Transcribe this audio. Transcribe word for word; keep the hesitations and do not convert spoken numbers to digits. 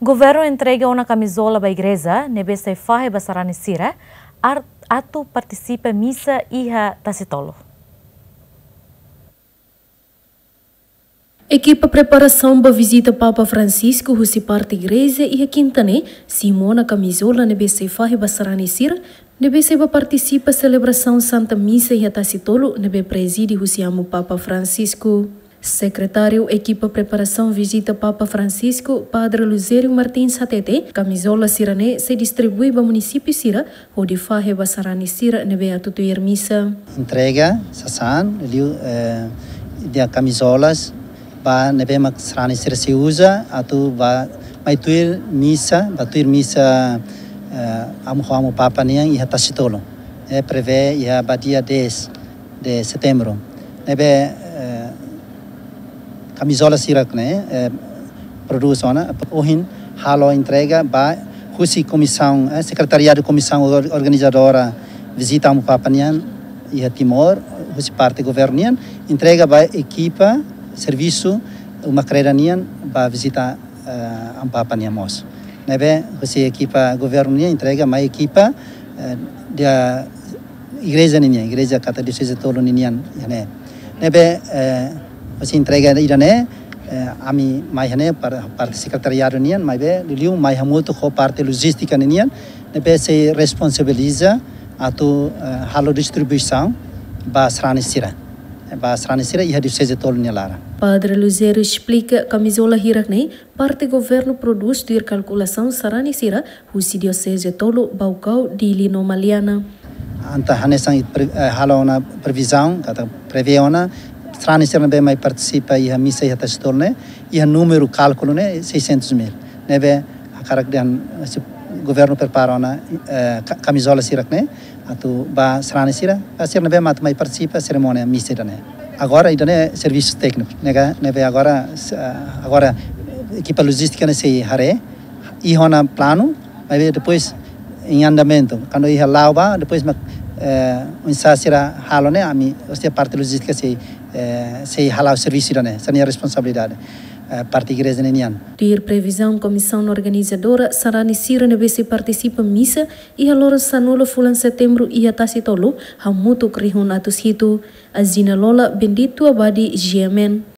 Governu entrega ona kamizola ba igreja ne'ebé sei fahe ba sarani sira ar-, atu partisipa misa iha Tasitolu. Ekipa preparasaun ba vizita Papa Francisco husi parte igreja iha kinta ne'e simu ona kamizola ne'ebé sei fahe ba sarani sira ne'ebé sei ba partisipa selebrasaun Santa Misa iha Tasitolu ne'ebé prezide husi Amu Papa Francisco. Sekretáriu ekipa preparasaun vizita Papa Francisco, Padre Luzério Martins hatete, kamizola sira-ne'e sei distribui ba munisípiu sira hodi fahe ba sarani sira ne'ebé atu tuir misa. Entrega sasán, liu, eh, dia kamizolas ba ne'ebé mak sarani sira sei uza atu ba mai tuir misa, ba tuir misa, eh, Amu, Amu Papa nian iha Tasitolu. Eh, prevee iha ba dia dez de setembro. Ne'ebé, eh, kamizola sira-ne'e, eh, produz ona, ohin halo entrega ba husi komisaun, eh, sekretariadu komisaun or-, organizadora vizita Amu Papa nian iha Timor, husi parte governu nian, entrega ba ekipa servisu Uma Kreda nian ba vizita, eh, Amu Papa nian mós. Ne'ebé husi ekipa governu nian entrega mai ekipa, eh, dia igreja ninian, igreja katak dioseze tolu ninian iha ne'e. Ne'ebé, eh, husi entrega ida-ne'e, eh, ami mai iha ne'e par-, parte sekretariadu nian, maibé liuliu mai hamutuk ho parte lojístika ninian, ne'ebé sei responsabiliza atu, eh, halo distribuisaun ba sarani sira. Ba sarani sira iha dioseze tolu nia laran. Padre Luzério esplika kamizola hirak-ne'e parte governu produz tuir kalkulasaun sarani sira husi dioseze tolu, Baucau, Dili no Maliana. Entaun hanesan pre-, eh, halo ona previzaun, katak prevee ona, sarani sira ne'ebé mai partisipa iha misa iha Tasitolu ne'e, iha númeru kálkulu ne'e seiscentos mil. Ne'ebé hakarak dehan, eh, se governu prepara ona, eh, ka-, kamizola sirak-ne'e, atu ba sarani sira, ba sira ne'ebé mak atu mai partisipa serimónia misa ida-ne'e. Agora, ida-ne'e servisu tékniku, ne'e ka, ne'ebé agora, s-, ah, agora ekipa lojístika ne'e sei haree, iha ona planu, maibé depois em andamento, kuandu iha la'o ba, depois mak, eh, oinsá sira halo ne'e, ami, ou seja, parte lojístika sei, eh, sei hala'o servisu ida-ne'e, hanesan nia responsabilidade, eh, parte igreja ninian. Tuir previzaun komisaun organizadora, sarani sira ne'ebé sei partisipa misa iha loron sanulu fulan Setembru iha Tasitolu hamutuk rihun atus hitu. Azina Lola, Bendito Abadi, G M N.